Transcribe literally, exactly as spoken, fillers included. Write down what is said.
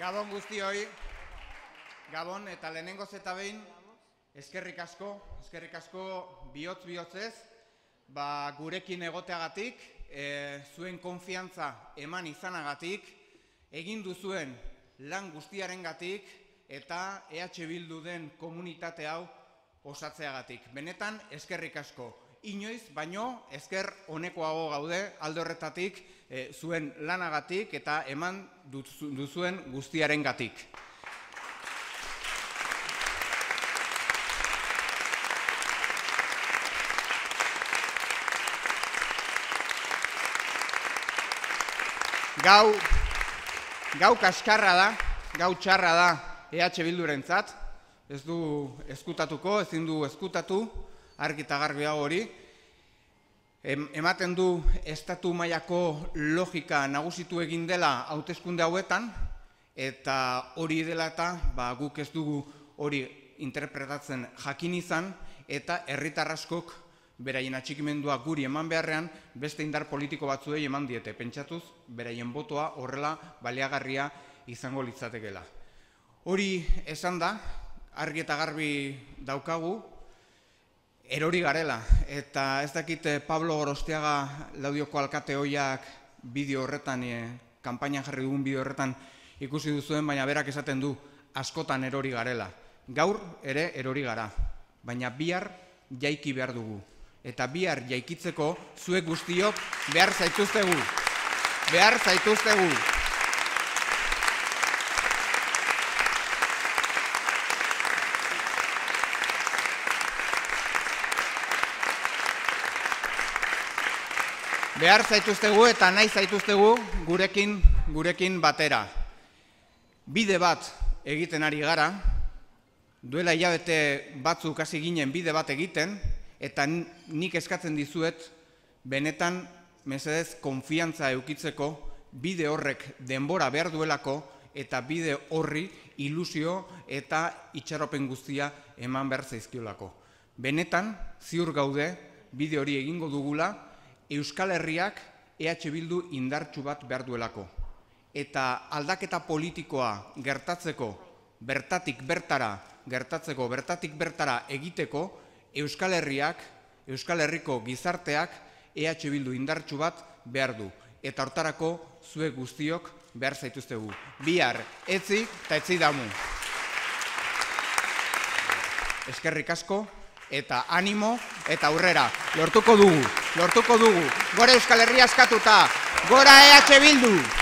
Gabon guztioi, Gabon eta lehenengoz eta behin, eskerrik asko, eskerrik asko bihotz bihotzez, ba, gurekin egoteagatik, e, zuen konfiantza eman izanagatik, egin duzuen lan guztiarengatik eta E H Bildu den komunitate hau osatzeagatik. Benetan, eskerrik asko. Inoiz, baino, esker honekoago gaude, alde horretatik, e, zuen lanagatik eta eman duzuen guztiarengatik. Gau, gau kaskarra da, gau txarra da E H Bildurentzat, ez du eskutatuko, ezin du eskutatu, argi eta garbi hau hori. Ematen du estatu mailako logika nagusitu egin dela hauteskunde hauetan, eta hori dela eta ba, guk ez dugu hori interpretatzen jakin izan, eta herritar askok beraien atxikimendua guri eman beharrean, beste indar politiko batzuei eman diete, pentsatuz, beraien botoa horrela baliagarria izango litzatekeela. Hori esan da, argi eta garbi daukagu, erori garela, eta ez dakit Pablo Gorostiaga Laudioko alkate hoiak bideo horretan, kanpainan jarri dugun bideo horretan ikusi duzuen, baina berak esaten du askotan erori garela. Gaur ere erori gara, baina bihar jaiki behar dugu. Eta bihar jaikitzeko zuek guztiok behar zaituztegu. Behar zaituztegu. Behar zaituztegu eta nahi zaituztegu gurekin, gurekin batera. Bide bat egiten ari gara, duela hilabete batzuk hasi ginen bide bat egiten, eta nik eskatzen dizuet, benetan, mesedez, konfiantza eukitzeko, bide horrek denbora behar duelako, eta bide horri ilusio eta itxaropen guztia eman behar zaizkiolako. Benetan, ziur gaude, bide hori egingo dugula, Euskal Herriak E H Bildu indartsu bat behar duelako. Eta aldaketa politikoa gertatzeko, bertatik bertara, gertatzeko, bertatik bertara egiteko, Euskal Herriak, Euskal Herriko gizarteak E H Bildu indartsu bat behar du. Eta hortarako zuek guztiok behar zaituztegu. Bihar, etzi eta etzi damu. Eskerrik asko. Eta animo eta aurrera. Lortuko dugu, lortuko dugu. Gora Euskal Herria askatuta, gora E H Bildu!